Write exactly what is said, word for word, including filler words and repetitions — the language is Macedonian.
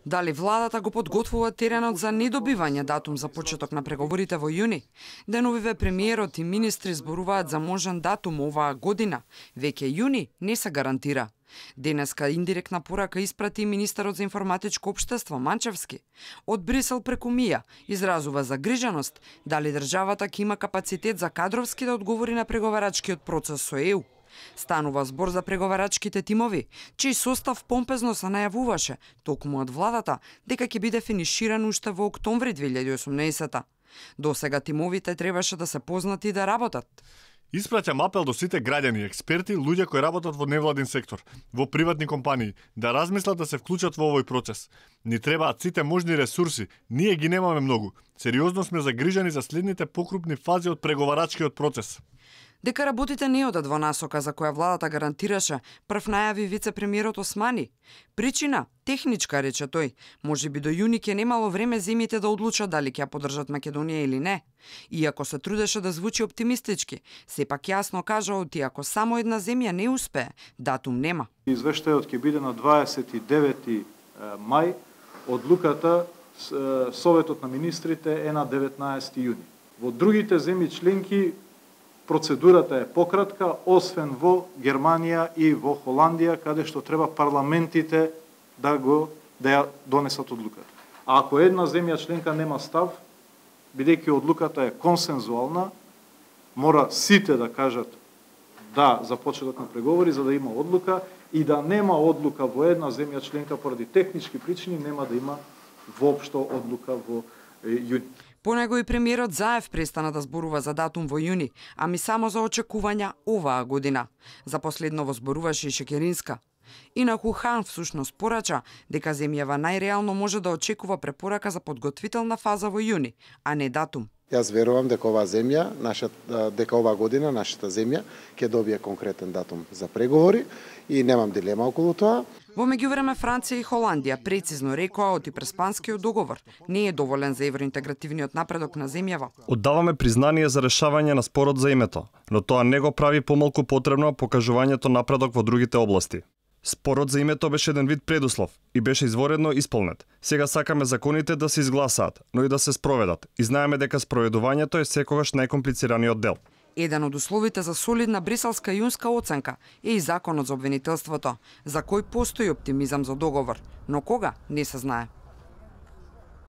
Дали владата го подготвува теренот за недобивање датум за почеток на преговорите во јуни? Деновиве премиерот и министри зборуваат за можен датум оваа година. Веќе јуни не се гарантира. Денеска индиректна порака испрати министерот за информатичко општество Манчевски. Од Брисел преку Мија изразува загриженост дали државата ќе има капацитет за кадровски да одговори на преговарачкиот процес со Е У. Станува збор за преговарачките тимови, чиј состав помпезно се најавуваше, токму од владата, дека ќе биде финиширан уште во октомври две илјади и осумнаесета. До сега тимовите требаше да се познати и да работат. Испраќам апел до сите граѓани, експерти, луѓе кои работат во невладин сектор, во приватни компании, да размислат да се вклучат во овој процес. Ни требаат сите можни ресурси, ние ги немаме многу. Сериозно сме загрижени за следните покрупни фази од преговарачкиот процес. Дека работите не одат во насока за која владата гарантираше, прв најави вице-премиерот Османи. Причина техничка, рече тој. Може би до јуни ќе немало време земјите да одлучат дали ќе ја поддржат Македонија или не. Иако се трудеше да звучи оптимистички, сепак јасно кажа оти ако само една земја не успее, датум нема. Извештајот ќе биде на дваесет и девети мај, одлуката Советот на министрите е на деветнаесети јуни. Во другите земји членки процедурата е пократка, освен во Германија и во Холандија, каде што треба парламентите да го да ја донесат одлуката. А ако една земја членка нема став, бидејќи одлуката е консензуална, мора сите да кажат да за почеток на преговори за да има одлука, и да нема одлука во една земја членка поради технички причини, нема да има воопшто одлука во јуни. По него и премиерот Заев престана да зборува за датум во јуни, ами само за очекувања оваа година. За последново зборуваше и Шекеринска. Инаку Хан всушност порача дека земјава најреално може да очекува препорака за подготвителна фаза во јуни, а не датум. Јас верувам дека оваа земја, нашата, дека оваа година нашата земја ќе добие конкретен датум за преговори и немам дилема околу тоа. Во меѓувреме Франција и Холандија прецизно рекоа оти преспанскиот договор не е доволен за евроинтегративниот напредок на земјава. Оддаваме признание за решавање на спорот за името, но тоа не го прави помалку потребно покажувањето напредок во другите области. Спорот за името беше еден вид предуслов и беше изворедно исполнет. Сега сакаме законите да се изгласаат, но и да се спроведат. И знаеме дека спроведувањето е секогаш најкомплицираниот дел. Еден од условите за солидна бриселска јунска оценка е и законот за обвинителството, за кој постои оптимизам за договор, но кога не се знае.